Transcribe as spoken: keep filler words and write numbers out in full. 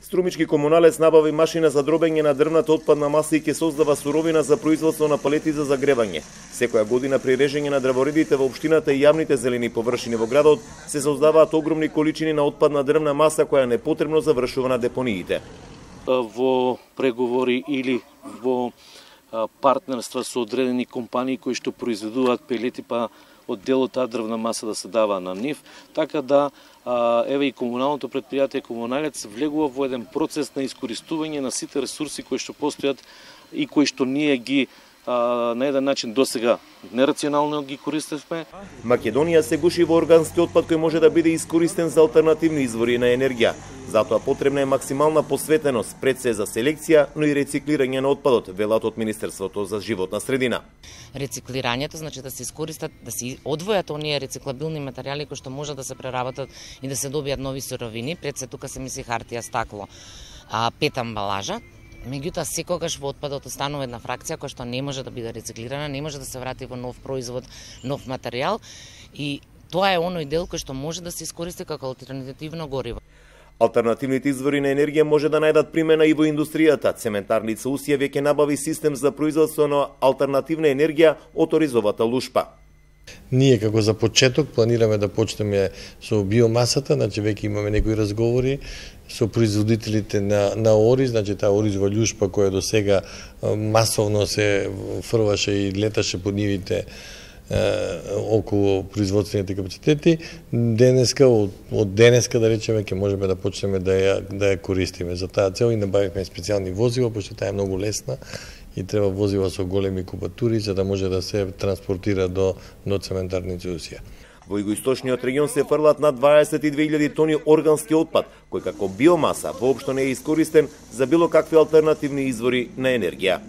Струмички комуналец набави машина за дробење на дрвната отпадна маса и ќе создава суровина за производство на палети за загревање. Секоја година при режење на дрворедите во општината и јавните зелени површини во градот се создаваат огромни количини на отпадна дрвна маса која непотребно завршува на депониите. Во преговори или во партнерства со одредени компании кои што произведуваат пелети, па од дел од таа дрвна маса да се дава на нив, така да еве и комуналното претпријатие Комуналец влегува во еден процес на искористување на сите ресурси кои што постојат и кои што ние ги а, на еден начин досега нерационално ги користевме. Македонија се гуши во органски отпад кој може да биде искористен за алтернативни извори на енергија. Затоа потребна е максимална посветеност пред се за селекција, но и рециклирање на отпадот, велат од Министерството за животна средина. Рециклирањето значи да се искористат, да се одвојат оние рециклабилни материјали кои што можат да се преработат и да се добијат нови суровини. Пред се тука се мисли хартија, стакло, а, пет амбалажа. Меѓутоа, секогаш во отпадот останува една фракција која што не може да биде рециклирана, не може да се врати во нов производ, нов материјал, и тоа е оној дел кој што може да се искористи како алтернативно гориво. Алтернативните извори на енергија може да најдат примена и во индустријата. Цементарница Усија веќе набави систем за производство на алтернативна енергија од оризовата лушпа. Ние како за почеток планираме да почнеме со биомасата, значи веќе имаме некои разговори со производителите на на ориз, значи таа оризова лушпа која до сега масовно се фрваше и леташе по нивите околу производствените капацитети. Денеска, од, од денеска да речеме, ќе можеме да почнеме да ја, да ја користиме. За таа цел и набавивме специјални возила, пошто таа е многу лесна и треба возила со големи кубатури за да може да се транспортира до, до цементарница Усија. Во југоисточниот регион се фрлат над дваесет и две илјади тони органски отпад, кој како биомаса воопшто не е искористен за било какви алтернативни извори на енергија.